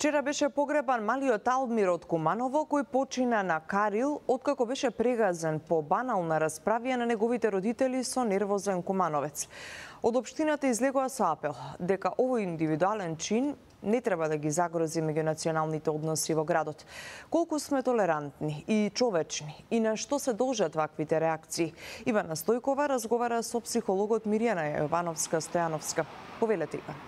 Вчера беше погребан малиот Алмир од Куманово, кој почина на Карил, откако беше прегазен по банална расправија на неговите родители со нервозен кумановец. Од општината излегува со апел дека овој индивидуален чин не треба да ги загрози меѓунационалните односи во градот. Колку сме толерантни и човечни и на што се должат ваквите реакции? Ивана Стојкова разговара со психологот Мирјана Јовановска-Стојановска. Повелете, Иван.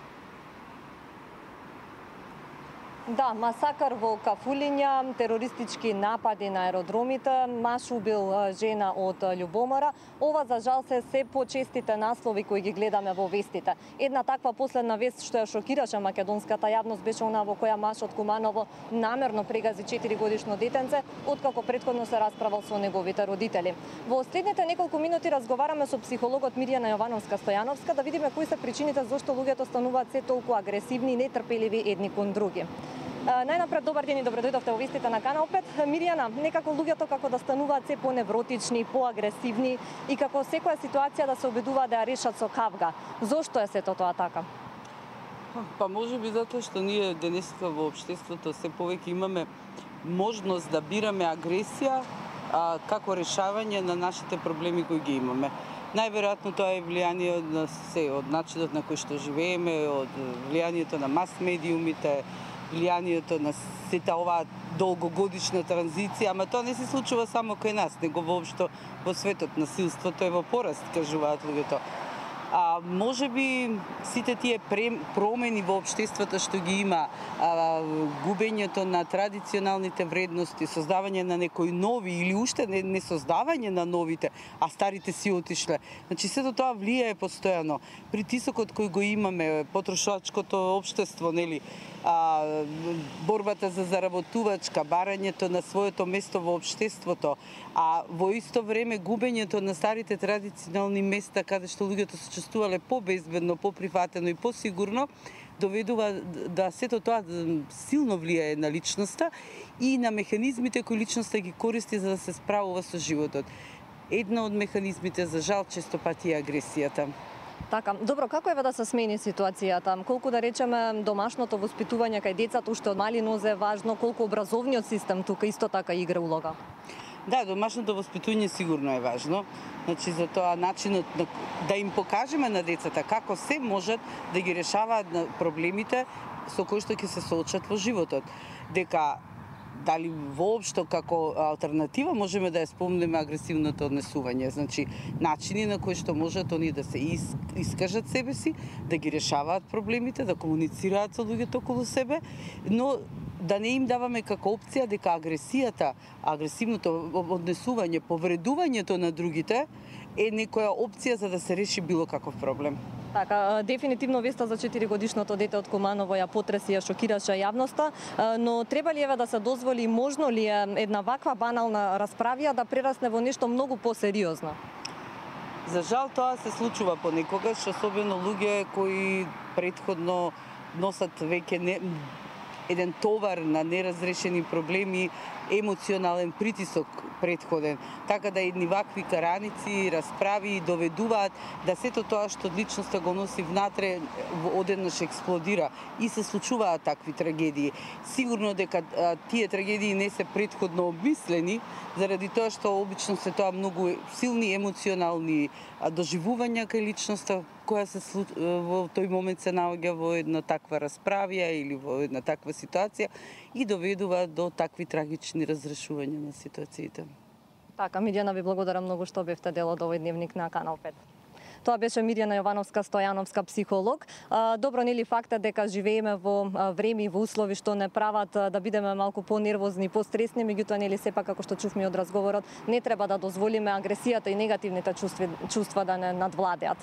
Да, масакар во Кафулиња, терористички напади на аеродромите, маж убил жена од љубомора. Ова за жал се почестите наслови кои ги гледаме во вестите. Една таква последна вест што ја шокираше македонската јавност беше она во која маж од Куманово намерно прегази 4-годишно детенце, откако претходно се расправал со неговите родители. Во следните неколку минути разговараме со психологот Мирјана Јовановска-Стојановска да видиме кои се причините зашто луѓето стануваат се толку агресивни и нетрпеливи едни кон други. Најнапред, добар ден и добро дојдовте во вестите на Канал 5. Мирјана, некако луѓето како да стануваат се поневротични, поагресивни и како секоја ситуација да се обидуваат да ја решат со кавга. Зошто е сето тоа така? Па може би затоа што ние денеска во општеството се повеќе имаме можност да бираме агресија како решавање на нашите проблеми кои ги имаме. Најверојатно тоа е влијание од начинот на кој што живееме, од влијанието на мас медиумите, влијанието на сета оваа долгогодишна транзиција, ама тоа не се случува само кај нас, него воопшто во светот. Насилството е во пораст, кажуваат луѓето. Може би сите тие промени во општеството што ги има, губењето на традиционалните вредности, создавање на некои нови или уште не создавање на новите, а старите си отишле. Значи сето тоа влијае постојано. Притисокот кој го имаме, потрошачкото општество, нели, борбата за заработувачка, барањето на своето место во општеството, а во исто време губењето на старите традиционални места каде што луѓето се чувствувале побезбедно, поприфатено и посигурно, доведува да сето тоа силно влијае на личноста и на механизмите кои личноста ги користи за да се справува со животот. Една од механизмите, за жал, често пати е агресијата. Така, добро, како е да се смени ситуацијата? Колку да речеме домашното воспитување кај децата уште од мали нозе е важно, колку образовниот систем тука исто така игра улога? Да, домашното воспитување сигурно е важно. Значи за тоа начинот да им покажеме на децата како се можат да ги решаваат проблемите со кои што ќе се соочат во животот. Дека дали воопшто како алтернатива можеме да ја спомнеме агресивното однесување, значи начини на кои што можат они да се искажат себе си, да ги решаваат проблемите, да комуницираат со луѓето околу себе, но да не им даваме како опција дека агресијата, агресивното однесување, повредувањето на другите е некоја опција за да се реши било каков проблем. Така, дефинитивно веста за 4-годишното дете од Куманово ја потреси, ја шокираше јавноста, но треба ли да се дозволи, можно ли е една ваква банална расправија да прерасне во нешто многу посериозно? За жал тоа се случува понекогаш, особено луѓе кои претходно носат веќе еден товар на неразрешени проблеми, емоционален притисок претходен, така да едни вакви караници, расправи доведуваат да сето тоа што личноста го носи внатре одеднаш експлодира и се случуваат такви трагедии. Сигурно дека тие трагедии не се претходно обмислени, заради тоа што обично се тоа многу силни емоционални доживувања кај личноста која се во тој момент се наоѓа во една таква расправија или во една таква ситуација и доведува до такви трагични разрешувања на ситуациите. Така, Мирјана, ви благодарам многу што бевте дел од овој дневник на Канал 5. Тоа беше Мирјана Јовановска-Стојановска, психолог. Добро, нели фактот дека живееме во време и во услови што не прават да бидеме малку понервозни, постресни, меѓутоа нели сепак како што чувме од разговорот, не треба да дозволиме агресијата и негативните чувства да не надвладеат.